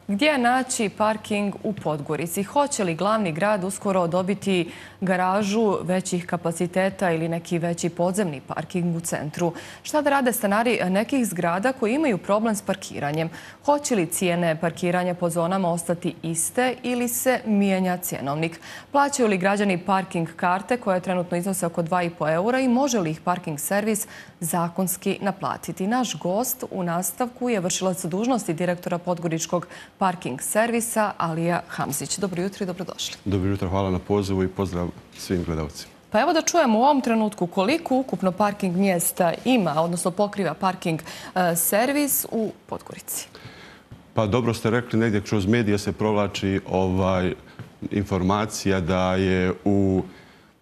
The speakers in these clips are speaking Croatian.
Gdje naći parking u Podgorici? Hoće li glavni grad uskoro dobiti garažu većih kapaciteta ili neki veći podzemni parking u centru? Šta da rade stanari nekih zgrada koji imaju problem s parkiranjem? Hoće li cijene parkiranja po zonama ostati iste ili se mijenja cjenovnik? Plaćaju li građani parking karte koje trenutno iznose oko 2,5 eura i može li ih parking servis zakonski naplatiti? Naš gost u nastavku je vršilac dužnosti direktora Podgoričkog parking servisa Alija Hamzić. Dobro jutro i dobrodošli. Dobro jutro, hvala na pozivu i pozdrav svim gledalcima. Pa evo da čujemo u ovom trenutku koliko ukupno parking mjesta ima, odnosno pokriva parking servis u Podgorici. Pa dobro ste rekli, negdje kroz medije se provlači informacija da je u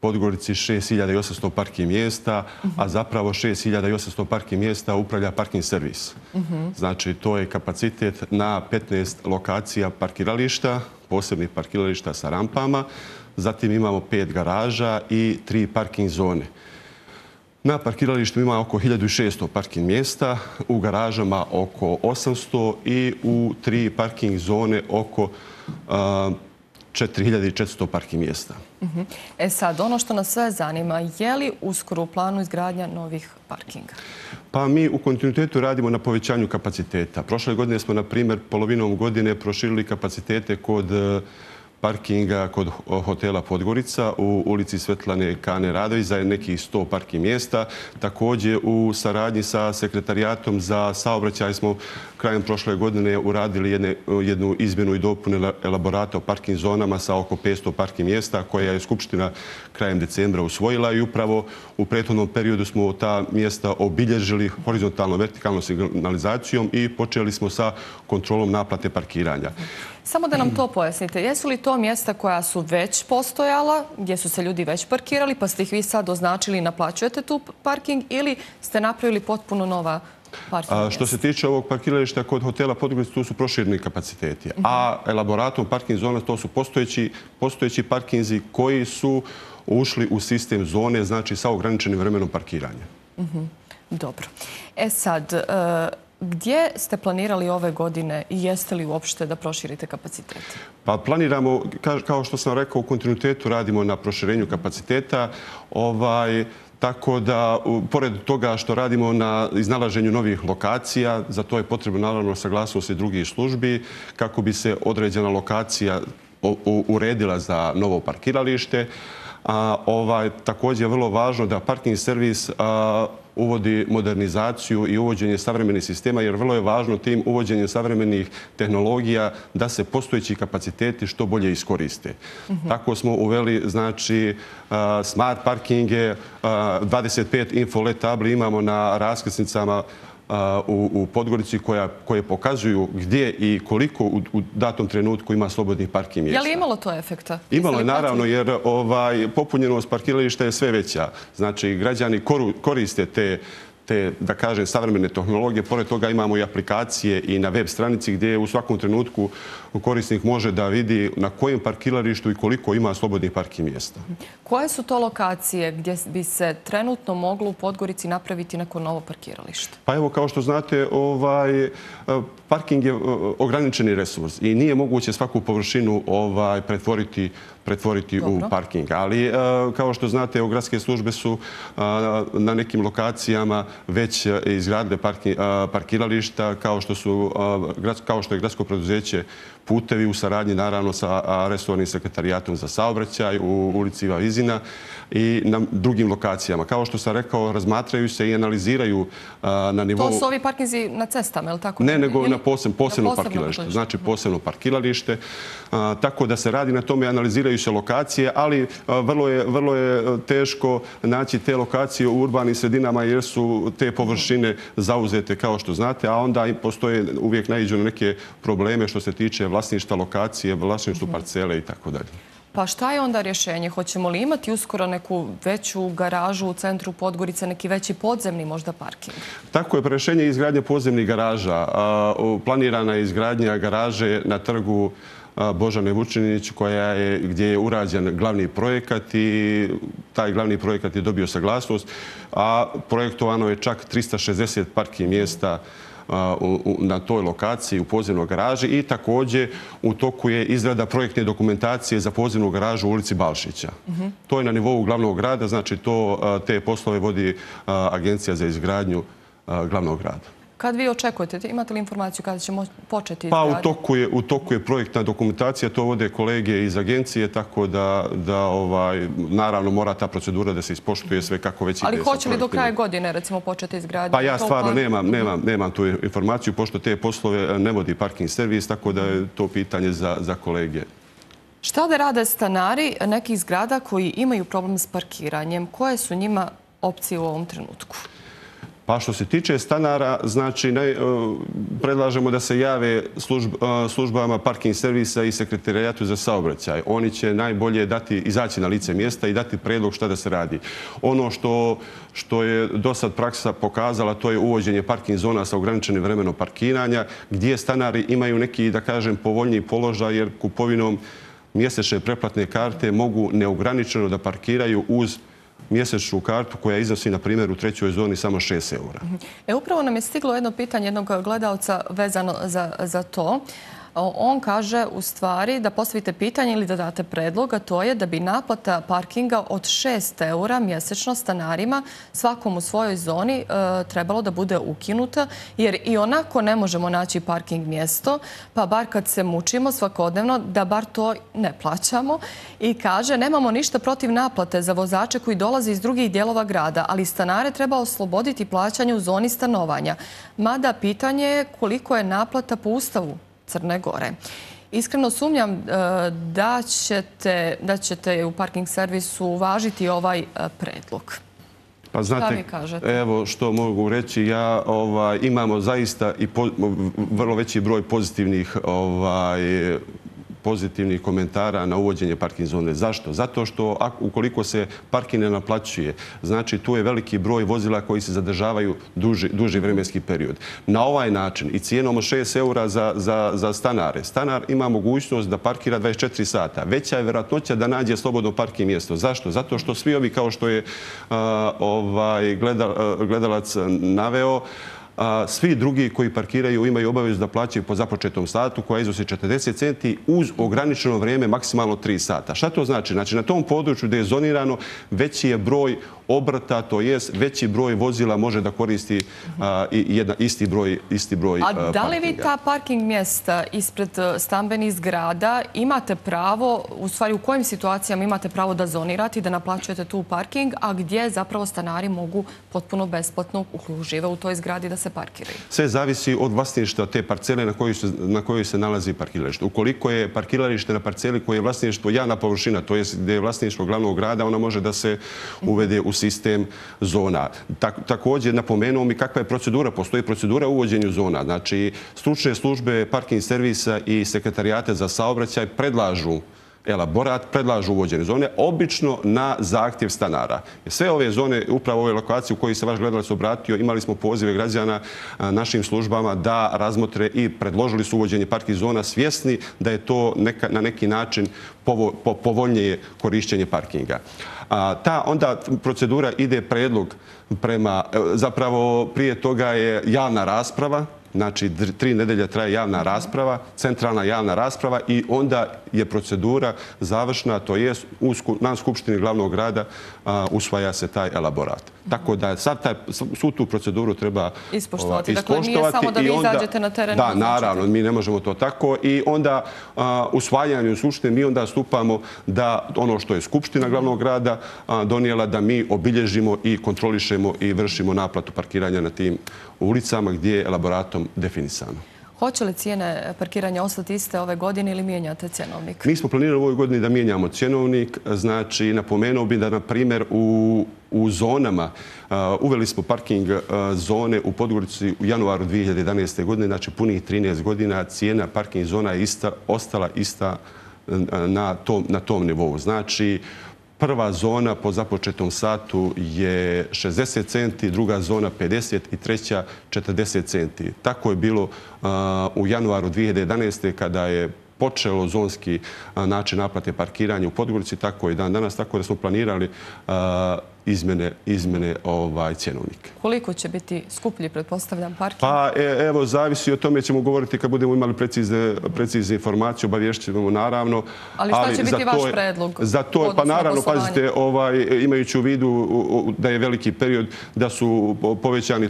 Podgorici 6.800 parking mjesta, a zapravo 6.800 parking mjesta upravlja parking servis. Znači, to je kapacitet na 15 lokacija parkirališta, posebnih parkirališta sa rampama. Zatim imamo 5 garaža i 3 parking zone. Na parkiralištu ima oko 1.600 parking mjesta, u garažama oko 800 i u 3 parking zone oko 4.400 parking mjesta. E sad, ono što nas sve zanima, je li uskoro u planu izgradnja novih parkinga? Pa mi u kontinuitetu radimo na povećanju kapaciteta. Prošle godine smo, na primjer, polovinom godine proširili kapacitete kod parkinga kod hotela Podgorica u ulici Svetlane Kane Radović za nekih 100 parking mjesta. Također u saradnji sa sekretarijatom za saobraćaj smo krajem prošle godine uradili jednu izmjenu i dopunu elaborata o parking zonama sa oko 500 parking mjesta koja je Skupština krajem decembra usvojila i upravo u prethodnom periodu smo ta mjesta obilježili horizontalno vertikalnom signalizacijom i počeli smo sa kontrolom naplate parkiranja. Samo da nam to pojasnite. Jesu li to mjesta koja su već postojala, gdje su se ljudi već parkirali, pa ste ih vi sad označili i naplaćujete tu parking ili ste napravili potpuno nova parking mjesta? Što se tiče ovog parkirališta kod hotela Podgorica, tu su prošireni kapaciteti. A elaboratom parking zona to su postojeći parkinzi koji su ušli u sistem zone, znači sa ograničenim vremenom parkiranja. Dobro. E sad, gdje ste planirali ove godine i jeste li uopšte da proširite kapacitete? Pa planiramo, kao što sam rekao, u kontinuitetu radimo na proširenju kapaciteta. Tako da, pored toga što radimo na iznalaženju novih lokacija, za to je potrebno naravno saglasnost i drugih službi, kako bi se određena lokacija uredila za novo parkiralište. Također je vrlo važno da parking servis uvodi modernizaciju i uvođenje savremenih sistema, jer vrlo je važno tim uvođenjem savremenih tehnologija da se postojeći kapaciteti što bolje iskoriste. Tako smo uveli, znači, smart parkinge, 25 info LED tabli imamo na raskrsnicama u Podgorici koje pokazuju gdje i koliko u datom trenutku ima slobodnih parking mjesta. Je li imalo to efekta? Imalo je, naravno, jer popunjenost parkirališta je sve veća. Znači, građani koriste te, da kažem, savremene tehnologije. Pored toga imamo i aplikacije i na web stranici gdje u svakom trenutku korisnik može da vidi na kojem parkiralištu i koliko ima slobodnih parking mjesta. Koje su to lokacije gdje bi se trenutno moglo u Podgorici napraviti neko novo parkiralište? Pa evo, kao što znate, parking je ograničeni resurs i nije moguće svaku površinu pretvoriti u parking. Ali, kao što znate, gradske službe su na nekim lokacijama već izgradile parkirališta, kao što je gradsko preduzeće Putevi u saradnji, naravno, sa resornim sekretarijatom za saobraćaj u ulici Iva Vizina i na drugim lokacijama. Kao što sam rekao, razmatraju se i analiziraju na nivou... To su ovi parkinzi na cestama, je li tako? Ne, nego na posebno parkiralište. Znači, posebno parkiralište. Tako da se radi na tome, analiziraju se lokacije, ali vrlo je teško naći te lokacije u urbanim sredinama jer su te površine zauzete, kao što znate, a onda postoje uvijek naiđu na neke probleme što se tiče vlasništva lokacije, vlasništva parcele i tako dalje. Pa šta je onda rješenje? Hoćemo li imati uskoro neku veću garažu u centru Podgorice, neki veći podzemni možda parking? Tako je, rješenje je izgradnja podzemnih garaža. Planirana je izgradnja garaže na trgu Božane Vučinić gdje je urađen glavni projekat i taj glavni projekat je dobio saglasnost, a projektovano je čak 360 parking mjesta na toj lokaciji u podzemnoj garaži i također u toku je izrada projektne dokumentacije za podzemnu garažu u ulici Balšića. To je na nivou glavnog grada, znači te poslove vodi Agencija za izgradnju glavnog grada. Kad vi očekujete, imate li informaciju kada ćemo početi Pa izgradnju? u toku je projektna dokumentacija, to vode kolege iz agencije, tako da naravno mora ta procedura da se ispoštuje sve kako već ide. Ali hoće li do kraja godine recimo početi izgradnju? Pa ja stvarno nemam tu informaciju, pošto te poslove ne vodi parking servis, tako da je to pitanje za kolege. Šta da rade stanari nekih zgrada koji imaju problem s parkiranjem? Koje su njima opcije u ovom trenutku? Pa što se tiče stanara, znači predlažemo da se jave službama parking servisa i sekretarijatu za saobraćaj. Oni će najbolje izaći na lice mjesta i dati predlog šta da se radi. Ono što je do sad praksa pokazala, to je uvođenje parking zona sa ograničenim vremenom parkiranja, gdje stanari imaju neki, da kažem, povoljniji položaj, jer kupovinom mjesečne preplatne karte mogu neograničeno da parkiraju uz mjesečnu kartu koja iznosi, na primjer, u trećoj zoni samo 6 eura. Upravo nam je stiglo jedno pitanje jednog gledalca vezano za to. On kaže u stvari da postavite pitanje ili da date predlog, a to je da bi naplata parkinga od 6 eura mjesečno stanarima svakom u svojoj zoni trebalo da bude ukinuta, jer i onako ne možemo naći parking mjesto, pa bar kad se mučimo svakodnevno da bar to ne plaćamo. I kaže, nemamo ništa protiv naplate za vozače koji dolaze iz drugih dijelova grada, ali stanare treba osloboditi plaćanja u zoni stanovanja. Mada pitanje je koliko je naplata po Ustavu Crne Gore. Iskreno sumnjam da ćete u parking servisu uvažiti ovaj predlog. Pa znate, evo što mogu reći, imamo zaista i vrlo veći broj pozitivnih komentara na uvođenje parking zone. Zašto? Zato što ukoliko se parking ne naplaćuje, znači tu je veliki broj vozila koji se zadržavaju duži vremenski period. Na ovaj način i cijenom od 6 eura za stanare, stanar ima mogućnost da parkira 24 sata. Veća je vjerojatnoća da nađe slobodno parking mjesto. Zašto? Zato što svi ovi, kao što je gledalac naveo, svi drugi koji parkiraju imaju obavezu da plaćaju po započetom satu koja iznosi 40 centi uz ograničeno vrijeme maksimalno 3 sata. Šta to znači? Znači na tom području gdje je zonirano veći je broj obrta, to jest veći broj vozila može da koristi isti broj parkinga. A da li vi ta parking mjesta ispred stambenih zgrada imate pravo, u stvari u kojim situacijama imate pravo da zonirate i da naplaćujete tu parking, a gdje zapravo stanari mogu potpuno besplatno žive u toj zgradi da se parkiraju? Sve zavisi od vlasništva te parcele na kojoj se nalazi parkiralište. Ukoliko je parkiralište na parceli koje je vlasništvo javna površina, to jest gdje je vlasništvo glavnog grada, ona može da se uvede u sistem zona. Također napomenuo mi kakva je procedura. Postoji procedura u uvođenju zona. Znači, stručne službe parking servisa i sekretarijate za saobraćaj predlažu elaborat, predlažu uvođenje zone, obično na zahtjev stanara. Sve ove zone, upravo ove lokacije u kojoj se vaš gledalac obratio, imali smo pozive građana našim službama da razmotre i predložili su uvođenje parking zona, svjesni da je to na neki način povoljnije korišćenje parkinga. Onda procedura ide predlog zapravo prije toga je javna rasprava, znači 3 nedelje traje javna rasprava, centralna javna rasprava i onda je procedura završna, to je na Skupštini glavnog grada usvaja se taj elaborat. Tako da svu tu proceduru treba ispoštovati. Dakle, nije samo da vi izađete na teren. Da, naravno, mi ne možemo to tako i onda usvajanjem u Skupštini mi onda stupamo da ono što je Skupština glavnog grada donijela da mi obilježimo i kontrolišemo i vršimo naplatu parkiranja na tim ulicama gdje je elaboratom definisano. Hoće li cijene parkiranja ostati iste ove godine ili mijenjate cjenovnik? Mi smo planirali u ovoj godini da mijenjamo cjenovnik. Znači, napomenuo bi da, na primjer, u zonama uveli smo parking zone u Podgorici u januaru 2011. godine, znači punih 13 godina, cijena parking zona je ostala ista na tom nivou. Znači, prva zona po započetom satu je 60 centi, druga zona 50 i treća 40 centi. Tako je bilo u januaru 2011. kada je počelo zonski način naplate parkiranja u Podgorici, tako i dan danas, tako da smo planirali izmene cjenovnika. Koliko će biti skuplji, pretpostavljam, parking? Pa evo, zavisi, o tome ćemo govoriti kad budemo imali precizne informacije, obavješćujemo naravno. Ali šta će biti vaš predlog? Za to, pa naravno, pazite, imajući u vidu da je veliki period, da su povećani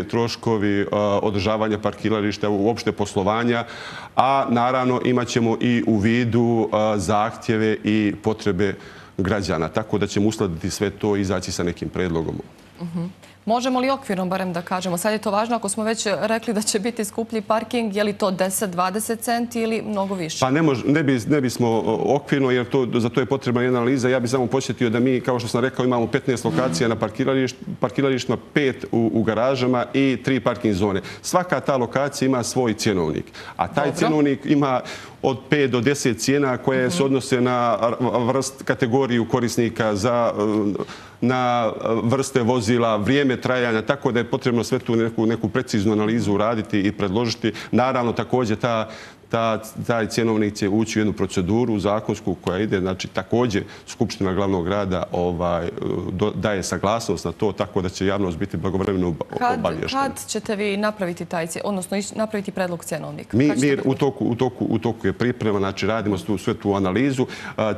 troškovi održavanja parkirališta, uopšte poslovanja, a naravno imat ćemo i u vidu zahtjeve i potrebe građana. Tako da ćemo uskladiti sve to i izaći sa nekim predlogom. Možemo li okvirno barem da kažemo? Sad je to važno ako smo već rekli da će biti skuplji parking. Je li to 10-20 centi ili mnogo više? Pa ne bismo okvirno jer za to je potrebna jedna analiza. Ja bih samo posjetio da mi, kao što sam rekao, imamo 15 lokacija na parkiralištima, 5 u garažama i 3 parking zone. Svaka ta lokacija ima svoj cjenovnik. A taj cjenovnik ima od 5 do 10 cijena koje se odnose na kategoriju korisnika, na vrste vozila, vrijeme trajanja, tako da je potrebno sve tu neku preciznu analizu uraditi i predložiti. Naravno, također taj cjenovnik će ući u jednu proceduru zakonsku koja ide, znači također Skupština glavnog grada daje saglasnost na to, tako da će javnost biti blagovremeno obavještena. Kad ćete vi napraviti odnosno napraviti predlog cjenovnika? U toku je priprema, znači radimo sve tu analizu.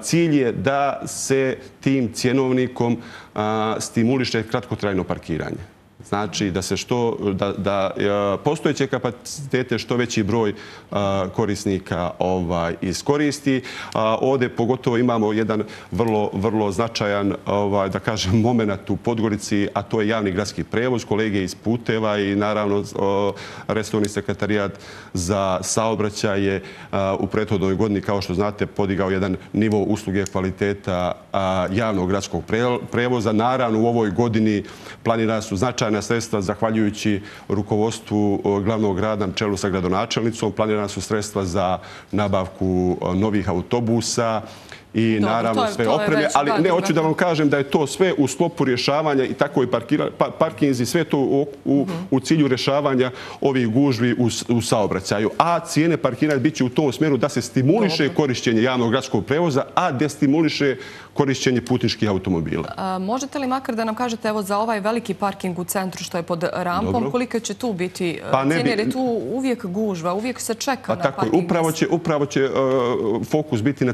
Cilj je da se tim cjenovnikom stimuliše kratkotrajno parkiranje. Znači da postojeće kapacitete što veći broj korisnika iskoristi. Ovdje pogotovo imamo jedan vrlo značajan, da kažem, moment u Podgorici, a to je javni gradski prevoz, kolege iz puteva i naravno resorni sekretariat za saobraćaj je u prethodnoj godini, kao što znate, podigao jedan nivo usluge kvaliteta javnog gradskog prevoza. Naravno, u ovoj godini planirana su značajna sredstva zahvaljujući rukovodstvu glavnog grada na čelu sa gradonačelnicom. Planirana su sredstva za nabavku novih autobusa i naravno sve opreme, ali ne, hoću da vam kažem da je to sve u sklopu rješavanja i tako i parkinzi, sve to u cilju rješavanja ovih gužvi u saobraćaju. A cijene parkiranja bit će u tom smjeru da se stimuliše korišćenje javnog gradskog prevoza, a destimuliše korišćenje putničkih automobila. Možete li makar da nam kažete evo za ovaj veliki parking u centru što je pod rampom, koliko će tu biti cijene, jer je tu uvijek gužva, uvijek se čeka na parking? Upravo će fokus biti na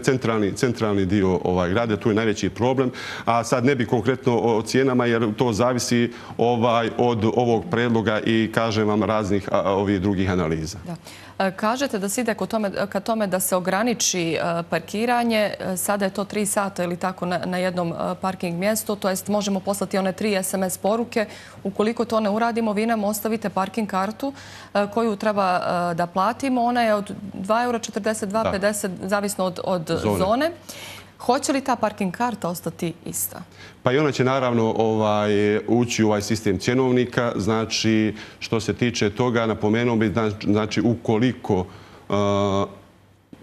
centralni dio grada, tu je najveći problem, a sad ne bi konkretno o cijenama jer to zavisi od ovog predloga i kažem vam raznih ovih drugih analiza. Kažete da se ide ka tome da se ograniči parkiranje. Sada je to 3 sata ili tako na jednom parking mjestu. To jest možemo poslati one 3 SMS poruke. Ukoliko to ne uradimo, vi nam ostavite parking kartu koju treba da platimo. Ona je od 2,42 zavisno od zone. Hoće li ta parking karta ostati ista? Pa i ona će naravno ući u ovaj sistem cjenovnika. Znači, što se tiče toga, napomenuo bi, znači, ukoliko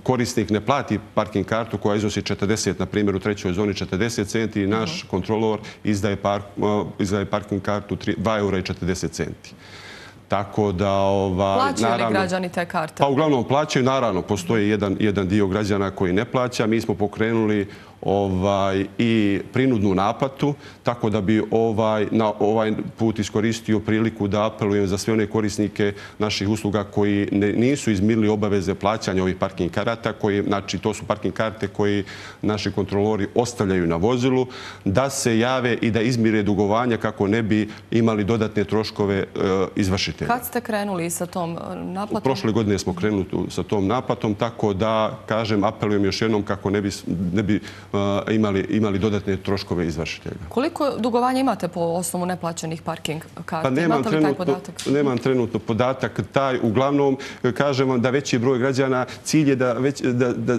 korisnik ne plati parking kartu koja iznosi 40, na primjer u trećoj zoni 40 centi, naš kontrolor izdaje parking kartu 2,40 centi. Tako da... Plaćaju li građani te karte? Pa uglavnom plaćaju, naravno, postoji jedan dio građana koji ne plaća. Mi smo pokrenuli i prinudnu naplatu, tako da bi na ovaj put iskoristio priliku da apelujem za sve one korisnike naših usluga koji nisu izmirili obaveze plaćanja ovih parking karata, znači to su parking karte koji naši kontrolori ostavljaju na vozilu, da se jave i da izmire dugovanja kako ne bi imali dodatne troškove izvršitelja. Kad ste krenuli sa tom naplatom? Prošle godine smo krenuli sa tom naplatom, tako da, kažem, apelujem još jednom kako ne bi imali dodatne troškove izvršitelja. Koliko dugovanja imate po osnovu neplaćenih parking karta? Imate li taj podatak? Nemam trenutno podatak. Uglavnom, kažem vam da veći broj građana, cilj je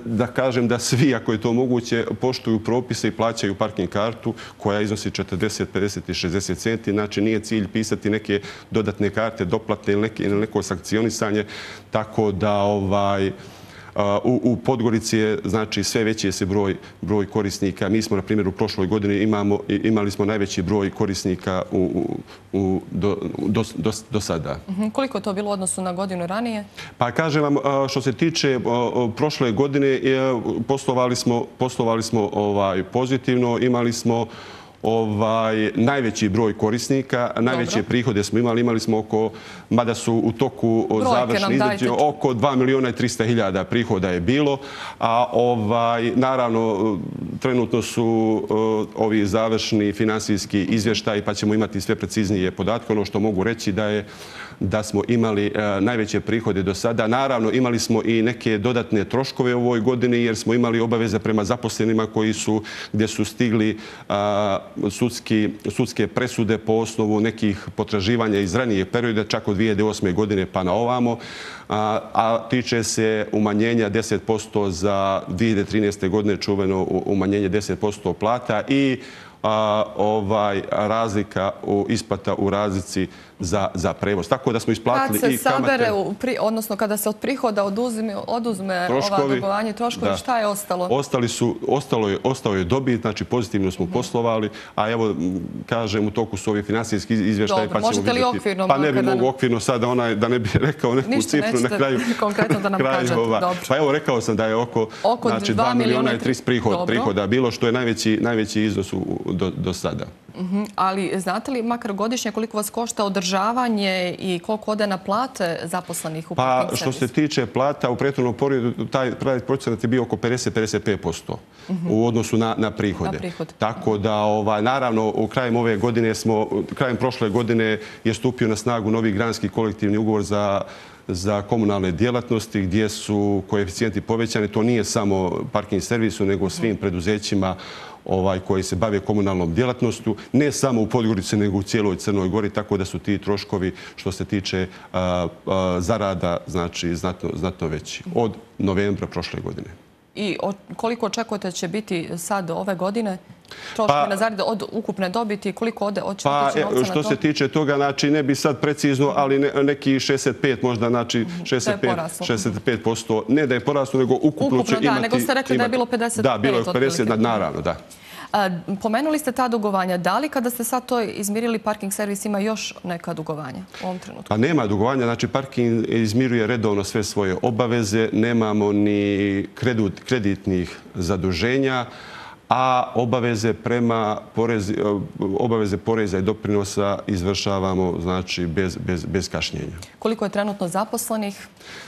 da kažem da svi, ako je to moguće, poštuju propise i plaćaju parking kartu koja iznosi 40, 50 i 60 centi. Znači, nije cilj pisati neke dodatne karte, doplatne ili neko sankcionisanje, tako da u Podgorici je, znači, sve veći je se broj korisnika. Mi smo, na primjer, u prošloj godini imali smo najveći broj korisnika do sada. Koliko je to bilo u odnosu na godinu ranije? Pa kažem vam, što se tiče prošle godine, poslovali smo pozitivno. Imali smo najveći broj korisnika. Najveće prihode smo imali smo oko, mada su u toku završni izračuni, oko 2.300.000 prihoda je bilo. A naravno, trenutno su ovi završni finansijski izvještaji, pa ćemo imati sve preciznije podatke. Ono što mogu reći da smo imali najveće prihode do sada. Naravno, imali smo i neke dodatne troškove u ovoj godini jer smo imali obaveze prema zaposlenima gdje su stigli sudske presude po osnovu nekih potraživanja iz ranijeg perioda, čak od 2008. godine pa na ovamo, a tiče se umanjenja 10% za 2013. godine, čuveno umanjenje 10% plata i razlika isplata u razlici za prevoz. Tako da smo isplatili i kamate. Kad se sabere, odnosno kada se od prihoda oduzme ova dugovanja i troškovi, šta je ostalo? Ostalo je dobit, znači pozitivno smo poslovali, a evo, kažem, u toku su ovi finansijski izvještaji, pa ćemo vidjeti. Možete li okvirno? Pa ne bi mogu okvirno sada, da ne bi rekao neku cifru na kraju. Ništa, nećete konkretno da nam kažete. Dobro. Pa evo, rekao sam da je oko 2.300.000 prihoda bilo, što je najveći iznos do sada. Ali znate li makar godišnje koliko vas košta održavanje i koliko ode na plate zaposlenih u parking servisu? Pa što se tiče plata, u prethodnom periodu taj procenat je bio oko 50-55% u odnosu na prihode. Tako da, naravno, krajem prošle godine je stupio na snagu novi granski kolektivni ugovor za komunalne djelatnosti gdje su koeficijenti povećani. To nije samo parking servisu, nego svim preduzećima koji se bave komunalnom djelatnostu, ne samo u Podgorici, nego u cijeloj Crnoj Gori, tako da su ti troškovi što se tiče zarada, znači, znatno veći od novembra prošle godine. I koliko očekujete će biti sad ove godine? Troškovi na zarade od ukupne dobiti, koliko ode očekujete novca na to? Što se tiče toga, znači, ne bi sad precizno, ali neki 65 možda, znači 65%. Ne da je poraslo, nego ukupno će imati... Ukupno, da, nego ste rekli da je bilo 55. Da, bilo je 50, naravno, da. Pomenuli ste ta dugovanja. Da li kada ste sad to izmirili, parking servis ima još neka dugovanja u ovom trenutku? Pa nema dugovanja. Znači, parking izmiruje redovno sve svoje obaveze. Nemamo ni kreditnih zaduženja, a obaveze poreza i doprinosa izvršavamo, znači, bez kašnjenja. Koliko je trenutno zaposlenih?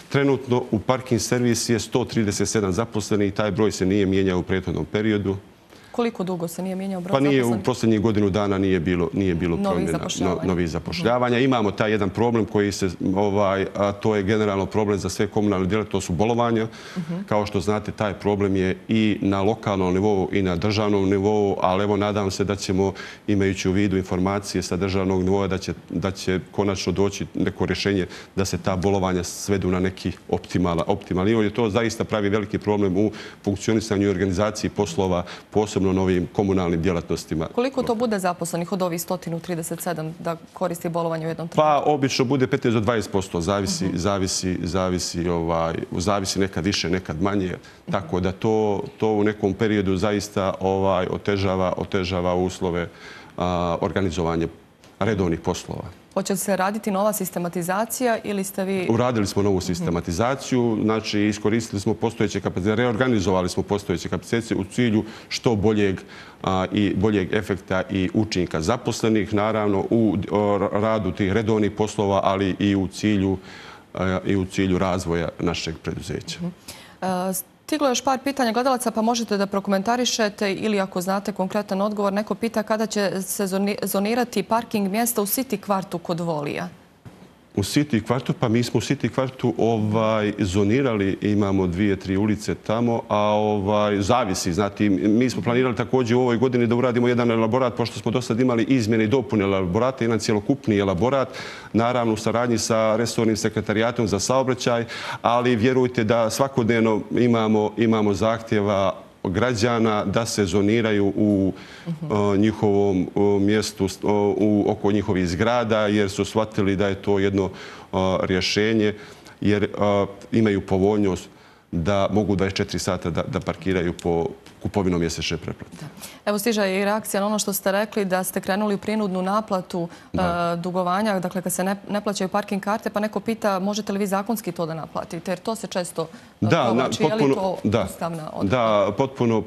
Trenutno u parking servis je 137 zaposlenih i taj broj se nije mijenjao u prethodnom periodu. Koliko dugo se nije mijenjao broj zaposlenih? Pa nije, u posljednjih godinu dana nije bilo promjena novih zapošljavanja. Imamo taj jedan problem koji se, a to je generalno problem za sve komunalne djelatnosti, to su bolovanja. Kao što znate, taj problem je i na lokalnom nivou i na državnom nivou, ali evo, nadam se da ćemo, imajući u vidu informacije sa državnog nivoa, da će konačno doći neko rješenje da se ta bolovanja svedu na neki optimalan nivo, jer to zaista pravi veliki problem u funkcionisanju i organizaciji poslova, posebno novim komunalnim djelatnostima. Koliko to bude zaposlenih od ovih 137 da koristi bolovanje u jednom trenutku? Pa obično bude 15 do 20%, zavisi nekad više, nekad manje. Tako da to u nekom periodu zaista otežava uslove organizovanja redovnih poslova. Hoće se raditi nova sistematizacija ili ste vi... Uradili smo novu sistematizaciju, znači iskoristili smo postojeće kapacitete, reorganizovali smo postojeće kapacitete u cilju što boljeg efekta i učinka zaposlenih, naravno u radu tih redovnih poslova, ali i u cilju razvoja našeg preduzeća. Stiglo je još par pitanja gledalaca, pa možete da prokomentarišete ili ako znate konkretan odgovor. Neko pita kada će se zonirati parking mjesta u City kvartu kod Volija. U City kvartu, pa mi smo u City kvartu zonirali, imamo 2-3 ulice tamo, a zavisi. Znati, mi smo planirali također u ovoj godini da uradimo jedan elaborat, pošto smo do sad imali izmjene i dopune elaborata, jedan cjelokupni elaborat, naravno u saradnji sa resornim sekretarijatom za saobraćaj, ali vjerujte da svakodnevno imamo zahtjeva građana da se zoniraju u njihovom mjestu, oko njihovih zgrada, jer su shvatili da je to jedno rješenje, jer imaju povoljnost da mogu 24 sata da parkiraju po kupovinom mjesečne pretplate. Evo stiže i reakcija na ono što ste rekli da ste krenuli u prinudnu naplatu dugovanja, dakle kad se ne plaćaju parking karte, pa neko pita možete li vi zakonski to da naplatite, jer to se često provlači, je li to ustavna odredba? Da,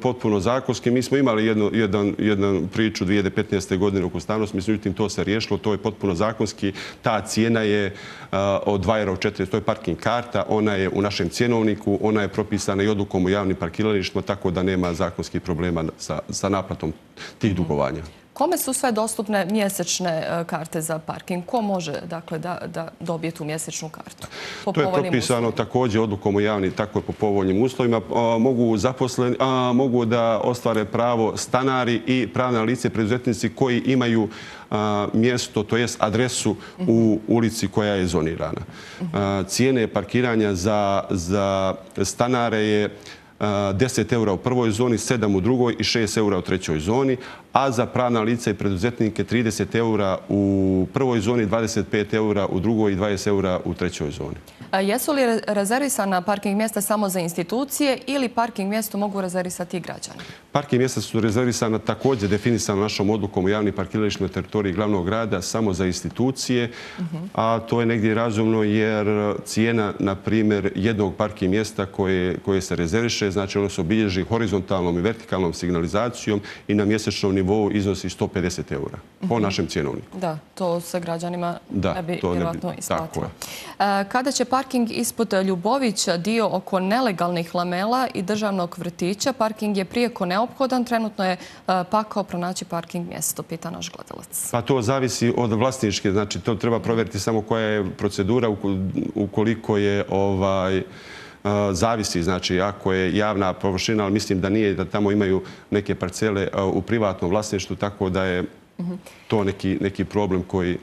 potpuno zakonski. Mi smo imali jednu priču 2015. godine oko ustavnosti, međutim to se riješilo, to je potpuno zakonski. Ta cijena je od 2,40 €, to je parking karta, ona je u našem cjenovniku, ona je propisana i odlukom o javnim parkiralištima, tako da nema zakonskih problema sa naplatom tih dugovanja. Kome su sve dostupne mjesečne karte za parking? Ko može da dobije tu mjesečnu kartu? To je propisano također odlukom o javnim, tako je po povoljnim uslovima. Mogu da ostvare pravo stanari i pravna lice preduzetnici koji imaju mjesto, to jest adresu u ulici koja je zonirana. Cijene parkiranja za stanare je 10 € u prvoj zoni, 7 u drugoj i 6 € u trećoj zoni, a za pravna lica i preduzetnike 30 € u prvoj zoni, 25 € u drugoj i 20 € u trećoj zoni. Jesu li rezervisana parking mjesta samo za institucije ili parking mjesto mogu rezervisati i građani? Parking mjesta su rezervisana također definisana našom odlukom o javnim parkiralištima na teritoriji glavnog grada samo za institucije, a to je negdje razumno jer cijena, na primjer, jednog parking mjesta koje se rezerviše, znači ono se obilježi horizontalnom i vertikalnom signalizacijom i na mjesečnom nivou iznosi 150 € po našem cjenovniku. Da, to se građanima ne bi vjerojatno isplatilo. Kada će parking ispod Ljubovića, dio oko nelegalnih lamela i državnog vrtića, parking je prijeko neophodan, trenutno je pakao pronaći parking mjesto, pita naš gledalac. Pa to zavisi od vlasničke, znači to treba provjeriti samo koja je procedura ukoliko je zavisi, znači ako je javna površina, ali mislim da nije, da tamo imaju neke parcele u privatnom vlasništvu, tako da je to neki problem koji...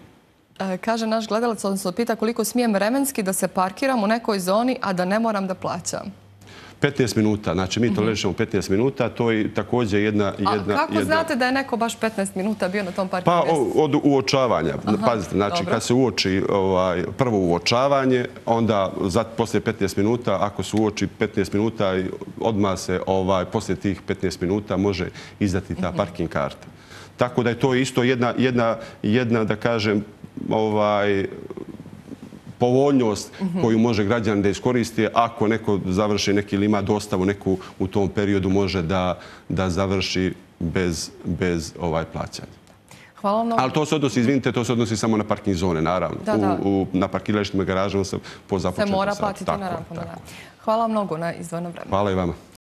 Kaže naš gledalac, odnosno pita koliko smijem vremenski da se parkiram u nekoj zoni, a da ne moram da plaćam. 15 minuta, znači mi tolerišemo 15 minuta, to je također jedna... A kako znate da je neko baš 15 minuta bio na tom parking mjestu? Pa od uočavanja. Pazite, znači kad se uoči prvo uočavanje, onda poslije 15 minuta, ako se uoči 15 minuta, odmah se poslije tih 15 minuta može izdati ta parking karta. Tako da je to isto jedna da kažem, povoljnost koju može građan da iskoristi ako neko završi neki ili ima dostavu neku u tom periodu može da završi bez plaćanja. Hvala vam mnogo. Ali to se odnosi, izvinite, to se odnosi samo na parking zone, naravno. Na parkiralištima, garažama se po započetom satu. Se mora platiti na rampama. Hvala vam mnogo na izdvojeno vreme. Hvala i vama.